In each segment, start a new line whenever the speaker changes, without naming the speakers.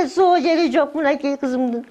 эле соо жери жок мынакей кызымдын.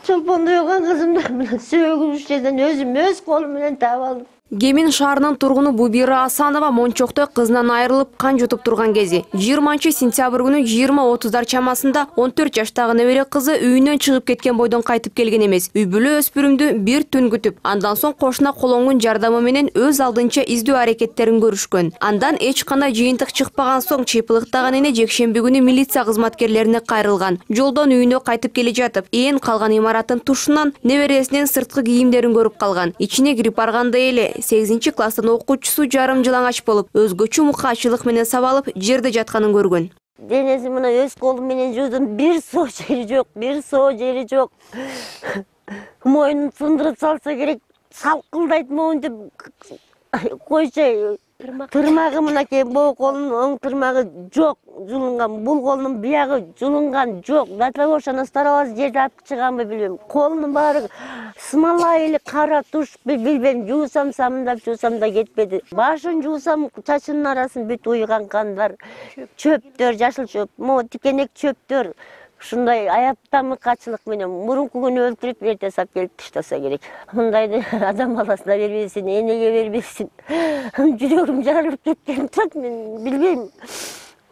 Чолпондой болгон кызымды мына сөөгүбүз жерден өзүм өз колум менен таап алдым.
Кемин шаарынын тургуну Бубира Асанова мончокто кызынан айрылып кан жутуп турган кези. 20-сентябрь күнү 20:30 чамасында 14 жаштагы небере кызы үйүнөн чыгып кеткен бойдон кайтып келген эмес. Үй бүлө өспүрүмдү бир түн күтүп, андан соң кошуна колоңдун жардамы менен өз алдынча издөө аракеттерин көрүшкөн. Андан эч кандай жыйынтык чыкпаган соң чыйпылыктаган эне жекшемби күнү милиция кызматкерлерине кайрылган. Жолдон үйүнө кайтып келе жатып, ээн калган имараттын тушунан небересинин сырткы кийимдерин көрүп калган. Ичине кирип барганда эле 8-класстын окуучусу жарым жылаңач болуп, өзгөчө мукачылык менен сабалып, жерде жатканын көргөн.
Денеси мына өз колум менен жуудум, бир соо жери жок. Мойнун сындырып салса керек, салкылдайт моюнду койчой. Тырмагы мынакей бул колунун оң тырмагы жок, жулунган. Бул колунун биягы жулунган жок. До того что старабыз жерде алып чыганбы билбейм. Колунун баары смола или кара туш билбейм. Жуусам самдап жуусам да кетпеди. Башын жуусам чачынын арасын бүт уйган кандар, чөптөр, жашыл чөп, могу тикенек чөптөр. Ушундай аяптамыкачылык менен мурунку күнү өлтүрүп эрте сап келип таштаса керек. Мындайды адам баласына бербесин, энеге бербесин. Жүрөгүм жарылып кеткен турат, мен билбейм.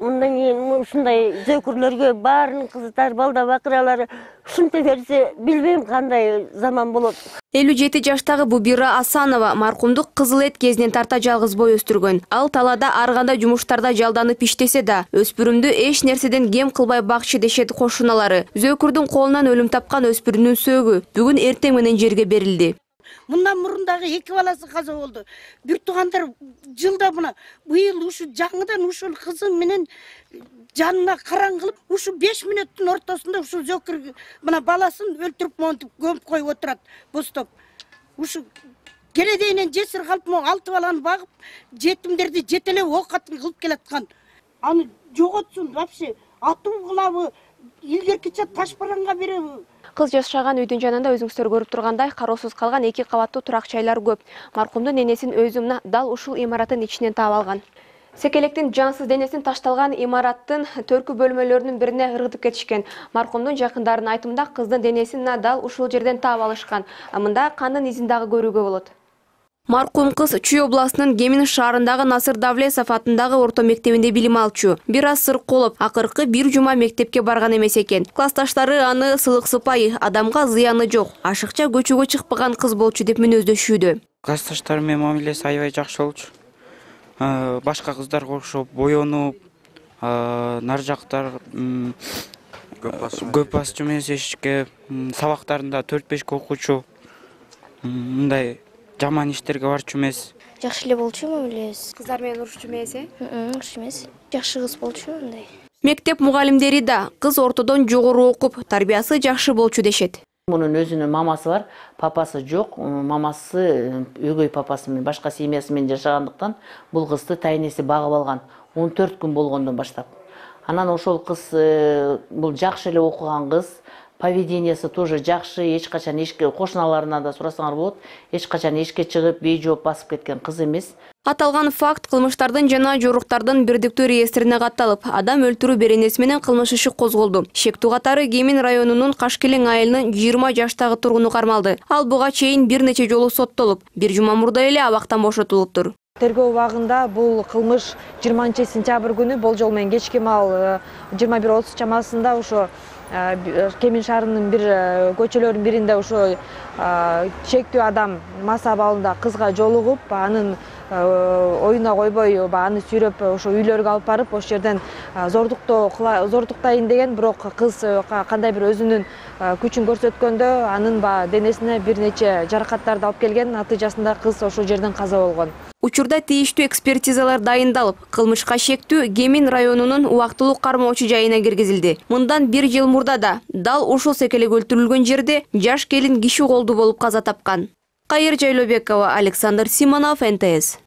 Мындан кийин ушундай зөкүрлөргө баарынын кыздар, балда бакыралары ушинте берсе, билбейм кандай заман болот.
57 жаштагы Бубира Асанова маркумду кызыл эт кезинен тарта жалгыз бой өстүргөн. Ал талаада ар кандай жумуштарда жалданып иштесе да, өспүрүмдү эч нерседен кем кылбай бакчы дешет кошуналары. Зөкүрдүн колунан өлүм тапкан өспүрүмдүн сөөгү бүгүн эртең менен жерге берилди.
Мындан мурун дагы 2 баласы каза болду. Бир туугандар жылда мына быйыл ушу жаңыдан ушул кызым менен жанына караң кылып, ушу 5 мүнөттүн ортосунда ушу зөкүр мына баласын өлтүрүп монтип көмүп коюп отурат бостоп. Ушу келедейинен жесир калып, 6 баланы багып, жетимдерди жетелеп оокатын кылып келаткан. Аны жоготсун вообще, атуу кылабы, илгеркиче таш бараңга береби?
Кыз жашаган үйдүн жанында өзүңүздөр көрүп тургандай кароосуз калган 2 кабаттуу турак жайлар көп. Маркумдун энесин өзүмна дал ушул имараттын ичинен таап алган. Секелектин жансыз денесин ташталган имараттын төркү бөлмөлөрүнүн бирине ыргытып кетишкен. Маркумдун жакындарынын айтымында кыздын денесин дал ушул жерден таап алышкан. Мында кандын изин дагы көрүүгө болот. Маркум кыз Чүй областынын Кемин шаарындагы Насыр Давлесов атындагы орто мектебинде билим алчу. Бир аз сырколуп, акыркы бир жума мектепке барган эмес экен. Классташтары аны сылыксыпай, адамга зыяны жок, ашыкча көчөгө чыкпаган кыз болчу деп мүнөздөшүүдө.
Классташтарым менен мамилеси аябай жакшы болчу. Башка кыздарга окшоп боенуп, нар жактар көп басчу эмес эшикке, сабактарында 4-5 окуучу. Мындай жаман иштерге барчу эмес.
Жакшы эле болчу мамилебиз.
Кыздар менен урушчу эмес,
Урушчу эмес. Жакшы кыз болчу мындай.
Мектеп мугалимдери да кыз ортодон жогору окуп, тарбиясы жакшы болчу дешет.
Мунун өзүнүн мамасы бар, папасы жок. Мамасы өгөй папасы менен башка семьясы менен жашагандыктан бул кызды тайнеси багып алган 14 күн болгондон баштап. Анан ошол кыз бул жакшы эле окуган кыз, поведениясы тоже жакшы, эч качан эшикке кошуналарынан да сурасаңар болот, эч качан эшикке чыгып бейжооп басып кеткен кыз эмес.
Аталган факт кылмыштардын жана жоруктардын бирдиктүү реестрине катталып, адам өлтүрүү беренеси менен кылмыш иши козголду. Шектүү катары Кемин районунун Кашкелең айылынын 20 жаштагы тургуну кармалды. Ал буга чейин бир нече жолу соттолуп, бир жума мурда эле абактан бошотулуптур.
Тергөө убагында бул кылмыш 20-сентябрь күнү болжол менен кечки маал 21:30 чамасында ошо Кемин шаарынын бир көчөлөрүнүн биринде ошо чектүү адам мас абалында кызга жолугуп, анын оюна койбой, аны сүйрөп ошо үйлөргө алып барып, ошол жерден зордуктайын деген, бирок кыз кандай бир өзүнүн күчүн көрсөткөндө анын денесине бир нече жаракаттарды алып келген, натыйжасында кыз ошол жерден каза болгон.
Учурда тийиштүү экспертизалар дайындалып, кылмышка шектүү Кемин районунун убактылуу кармоочу жайына киргизилди. Мындан 1 жыл мурда да дал ушул секелек өлтүрүлгөн жерде жаш келин киши колду болуп каза тапкан. Кайыр Жайлообекова, Александр Симонов, НТС.